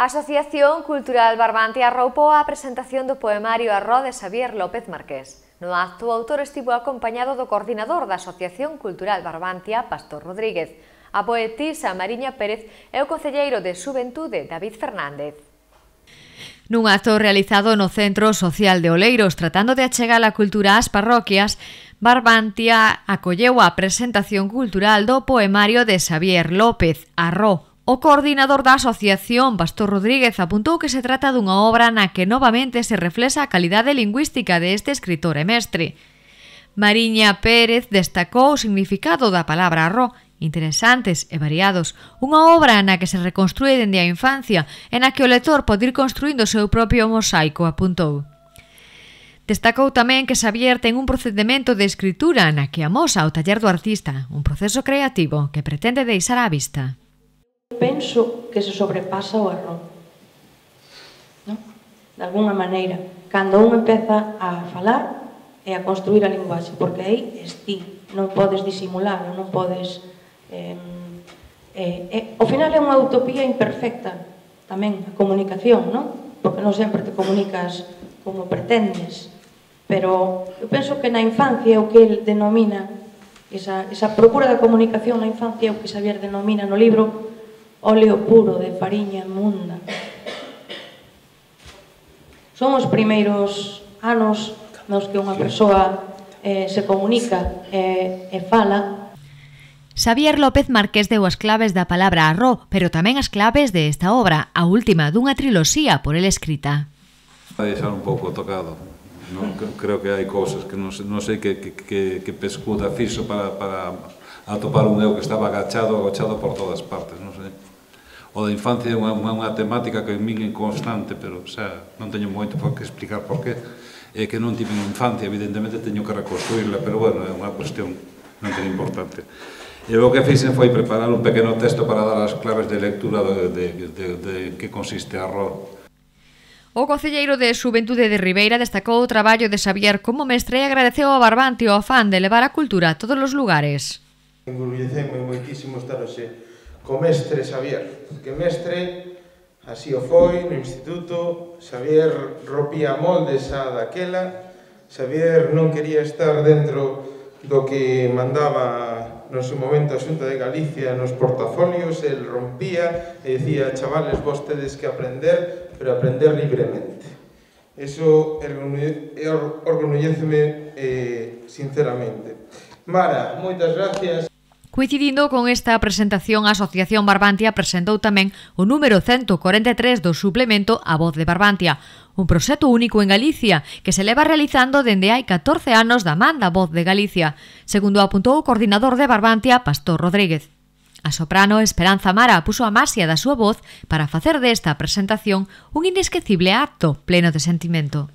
A Asociación Cultural Barbantia arroupou a presentación do poemario Arró de Xavier López Marqués. No acto, o autor estivo acompañado do coordinador da Asociación Cultural Barbantia, Pastor Rodríguez, a poetisa Mariña Pérez e o concelleiro de Xuventude, David Fernández. Nun acto realizado no Centro Social de Oleiros, tratando de achegar a cultura ás parroquias, Barbantia acolleu a presentación cultural do poemario de Xavier López, Arró. O coordinador da asociación, Pastor Rodríguez, apuntou que se trata dunha obra na que novamente se reflexa a calidade lingüística deste escritor e mestre. Mariña Pérez destacou o significado da palabra arró, interesantes e variados, unha obra na que se reconstrúe dende a infancia e na que o lector pode ir construindo o seu propio mosaico, apuntou. Destacou tamén que Xavier ten un procedimento de escritura na que amosa o taller do artista, un proceso creativo que pretende deixar á vista. Penso que se sobrepasa o erro, non? De alguna maneira, cando un empeza a falar e a construir a linguaxe, porque aí ti, non podes disimulalo, non podes... ao final é unha utopía imperfecta, tamén, a comunicación, non? Porque non sempre te comunicas como pretendes, pero eu penso que na infancia é o que el denomina, esa procura da comunicación na infancia é o que Xavier denomina no libro óleo puro de fariña munda. Son os primeiros anos nos que unha persoa se comunica e fala. Xavier López Marqués deu as claves da palabra arró, pero tamén as claves de esta obra, a última dunha triloxía por el escrita. A deixar un pouco tocado. Creo que hai cousas que non sei que pescuda fixo para atopar un eu que estaba agachado por todas partes, non sei. O da infancia é unha temática que en min é constante, pero non teño moito por que explicar por qué. É que non tive infancia, evidentemente teño que reconstruirla, pero bueno, é unha cuestión non tan importante. E o que fixen foi preparar un pequeno texto para dar as claves de lectura de que consiste Arró. O concelleiro de Xuventude de Ribeira destacou o traballo de Xavier como mestre e agradeceu ao Barbantia o afán de levar a cultura a todos os lugares. Engurulleceme moitísimo estar hoxe co mestre Xavier, que mestre así o foi no instituto. Xavier rompía moldes a daquela. Xavier non quería estar dentro do que mandaba no seu momento a Xunta de Galicia nos portafolios. El rompía e dicía: chavales, vos tedes que aprender, pero aprender libremente. Eso orgulléceme sinceramente. Mara, moitas gracias. Coincidindo con esta presentación, a Asociación Barbantia presentou tamén o número 143 do suplemento A Voz de Barbantia, un proxecto único en Galicia que se leva realizando dende hai 14 anos da man da Voz de Galicia, segundo apuntou o coordinador de Barbantia, Pastor Rodríguez. A soprano Esperanza Mara puxo a maxia da súa voz para facer desta presentación un inesquecible acto pleno de sentimento.